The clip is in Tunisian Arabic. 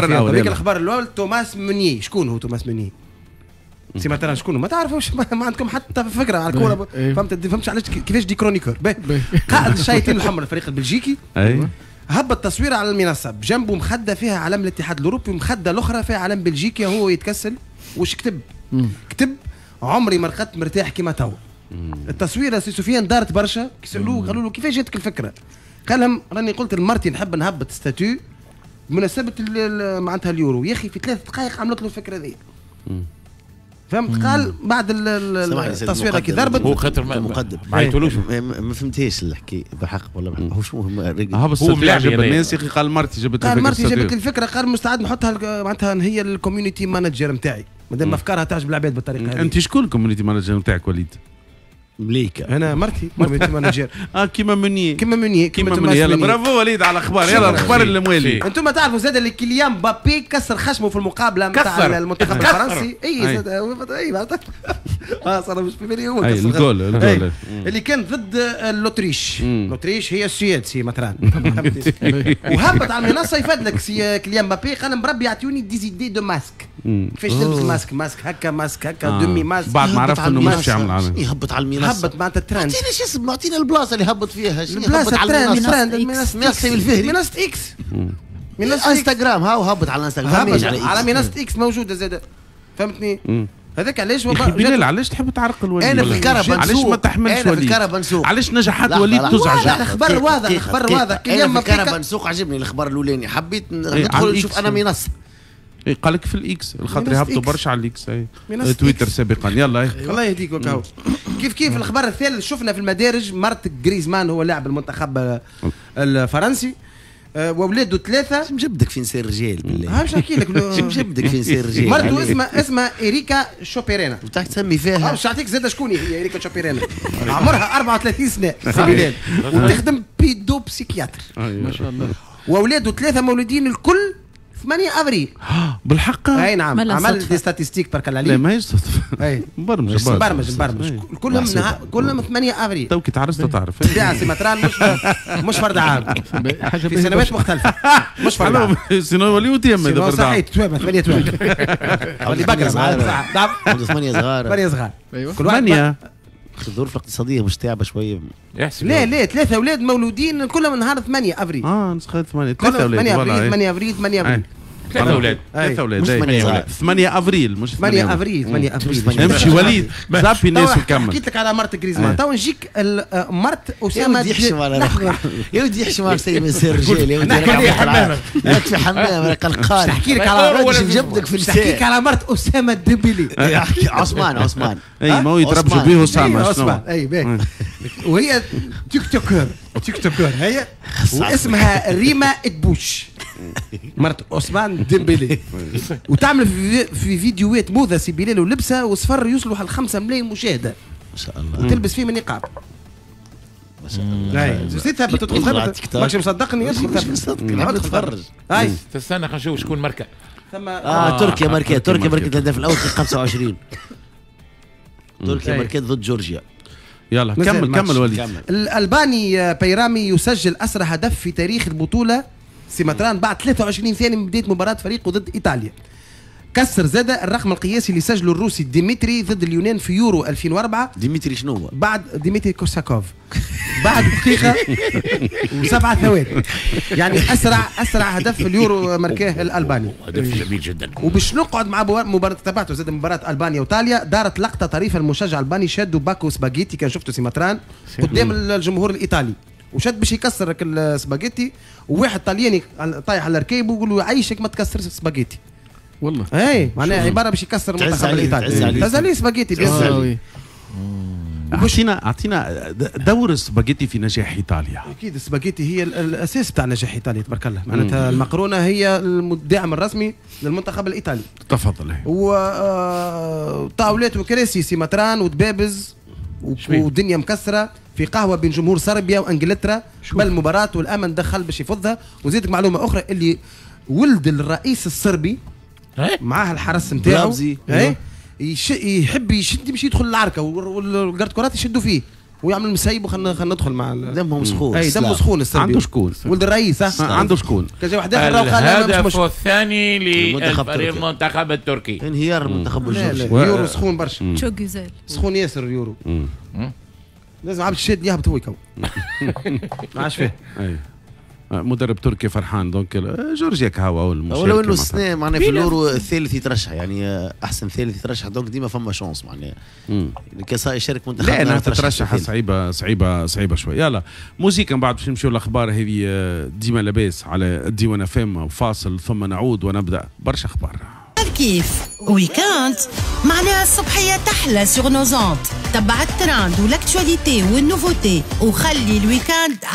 الاول. هذيك الخبر الاول توماس مونيه. شكون هو توماس مونيه؟ سي مثلا شكون؟ ما تعرفوش، ما عندكم حتى فكرة على الكورة. فهمت؟ فهمتش علاش كيفاش des chroniqueurs. قائد الشياطين الحمر الفريق البلجيكي هبط تصويره على المنصة، بجنبه مخده فيها علم الاتحاد الاوروبي ومخده الاخرى فيها علم بلجيكا، هو يتكسل. وش كتب؟ كتب عمري ما رقدت مرتاح كيما توا. التصويره سي سفيان دارت برشا، سالوه قالوا له كيفاش جاتك الفكرة؟ قال لهم راني قلت لمرتي نحب نهبط statut بمناسبة معناتها اليورو، يا اخي في 3 دقائق عملت له الفكرة ذي. فهمت؟ قال بعد التصويره كي ضربت هو خاطر مقدم ما عيطولوش. ما فهمتهاش الحكاية بالحق والله. هو شو هو ملاعب الناس يا اخي. قال مرتي جابت الفكرة، قال مرتي جابت الفكرة، قال مستعد نحطها معناتها هي ال community manager نتاعي، مادام افكارها تعجب العباد بالطريقة هذه. انت شكون ال community manager نتاعك وليد؟ مليكة. انا مرتي community manager. كيما مني كيما مني كيما مني. يلا برافو وليد على الاخبار. يلا الاخبار الموالي. انتم تعرفوا زاد اللي كيليان مبابي كسر خشمه في المقابلة نتاع المنتخب الفرنسي. اي اي صار مش في بالي هو كسر الجول اللي كان ضد l'Autriche. l'Autriche هي السويد سي مثلا. وهبط على المنصة يفدلك سي كيليان مبابي، قال بربي يعطوني des idées de masques، كيفاش تلبس masque، masque هكا masque هكا demi masque. بعد ما عرفت انه مش يعمل يهبط على المنصة، هبط معناتها الترند. اعطينا شو اسمه، اعطينا البلاصة اللي هبط فيها، البلاصة الترند، منصة الفهري، منصة اكس، منصة انستغرام. هاو هبط على الانستغرام، على منصة اكس موجودة زاده. فهمتني؟ هذاك علاش بلال علاش تحب تعرق الوليد؟ انا في الكهرباء علاش ما تحملش وليد؟ انا في الكهرباء نسوق. علاش نجاحات وليد تزعج؟ الخبر واضح، الخبر واضح. انا في الكهرباء نسوق عجبني الخبر الاولاني، حبيت ندخل نشوف انا منصة. إيه قال لك في الاكس الخاطر يهبطوا برشا على الاكس تويتر سابقا. يلا الله يهديك وكاو. كيف كيف الخبر الثالث شفنا في المدارج مرت جريزمان هو لاعب المنتخب الفرنسي واولاده 3. مجبدك في نسير رجال بالله. باش نحكي لك مجبدك في نسير رجال. مرته اسمها اريكا شوبيرينا. وتحت تسمي فيها. باش نعطيك زاد شكون هي اريكا شوبيرينا. عمرها 34 سنة سي بلال وتخدم pédopsychiatre. ما شاء الله. واولاده 3 مولودين الكل 8 افريل. بالحق؟ اي نعم. عمل des statistiques بارك الله عليك. لا ماهيش صدفة. مبرمج مبرمج مبرمج. كلهم 8 افريل. تو كي تعرست تعرف. بالطبيعة سي مطران مش فرد عام. في سنوات مختلفة. مش فرد عام. sinon يوليو تيم اذا فرد عام. صحيح توامة 8 توامة. ولي بكرة صغار. 8 صغار. 8 صغار. ايوه. كل واحد الظروف الاقتصادية مش تعبه شوية. لا لا 3 اولاد مولودين كلهم نهار 8 افريل. نسخه 8 3 اولاد 8 افريل 8 افريل 8 افريل. 3 اولاد 3 اولاد 8 افريل مش 8 افريل 8 افريل. امشي وليد زابي الناس وكمل. حكيت لك على مرت جريزمان، تو نجيك مرت اسامة. يحشم على روحه يا ودي يحشم على سيد من سير الرجال يا ودي. راك في حمام راك قلقان. نحكي لك على جبدك في نحكي لك على مرت اسامة الدبلي. عثمان عثمان. اي ما هو يتربجوا به اسامة. عثمان اي باهي. وهي TikToker TikToker هي واسمها ريما ادبوش مرت عثمان ديمبلي، وتعمل في فيديوهات موضة سي بلال ولبسه وصفر يوصلوا على 5 ملايين مشاهده ما شاء الله، وتلبس فيه من نقاب ما شاء الله. زيد ثبت تدخل ثبت ماكش مصدقني ادخل ثبت. مصدقني نتفرج. هاي تستنى خلينا نشوف شكون مركه. ثم تركيا مركات، تركيا مركت الهدف الاول في 25. تركيا مركت ضد جورجيا. يلا كمل كمل وليد. الالباني بيرامي يسجل اسرع هدف في تاريخ البطولة سيماتران بعد 23 ثانية من بداية مباراة فريقه ضد ايطاليا. كسر زاد الرقم القياسي اللي سجله الروسي ديمتري ضد اليونان في يورو 2004. ديمتري شنو هو؟ بعد ديمتري كورساكوف بعد دقيقة و7 ثواني. يعني أسرع هدف في اليورو مركاه الألباني. هدف جميل جدا. وباش نقعد مع مباراة تبعته زاد مباراة ألبانيا وإيطاليا، دارت لقطة طريفة المشجع الألباني شدوا باكو سباجيتي كان شفته سيماتران قدام الجمهور الإيطالي، وشد باش يكسر السباجيتي، وواحد طلياني طايح على ركيبه ويقول له عيشك ما تكسرش السباجيتي. والله اي معناها عبارة باش يكسر المنتخب الايطالي. تعز عليه سباجيتي bien. اعطينا دور السباجيتي في نجاح ايطاليا. اكيد السباجيتي هي الاساس بتاع نجاح ايطاليا تبارك الله، معناتها المقرونه هي الداعم الرسمي للمنتخب الايطالي. تفضل. وطاولات وكراسي سيماتران ودبابز ودنيا مكسرة في قهوة بين جمهور صربيا وانجلترا قبل المباراة، والامن دخل باش يفضها. وزيدك معلومة اخرى اللي ولد الرئيس الصربي معاه الحرس نتاعو يحب يشد يمشي يدخل العركه وال garde corps يشدوا فيه. ويعمل مسيب وخلينا ندخل مع دمهم سخون. اي دمه سخون السربي. عنده شكون؟ ولد الرئيس. عنده شكون؟ كان جا واحد اخر قال الهدف الثاني للفريق المنتخب التركي. انهيار المنتخب الجورجي. اليورو سخون برشا. çok güzel. سخون ياسر اليورو. لازم عبد الشاد يهبط هو يكون. ما عادش فيه. مدرب تركي فرحان donc جورجيا كهوا المشاركة. ولو انه السنة معناها في اليورو الثالث يترشح، يعني احسن ثالث يترشح، donc ديما فما chance معناها كسا يشارك منتخب. لا انها تترشح صعيبة صعيبة صعيبة شوي. يلا موزيكا من بعد باش نمشيو الاخبار هذه ديما لاباس على ديوان FM. فاصل ثم نعود ونبدا برشا اخبار. كيف week-end معناها الصبحية تحلى sur nos ondes، تبع ال trend وال actualité وال nouveautés وخلي ال week-end.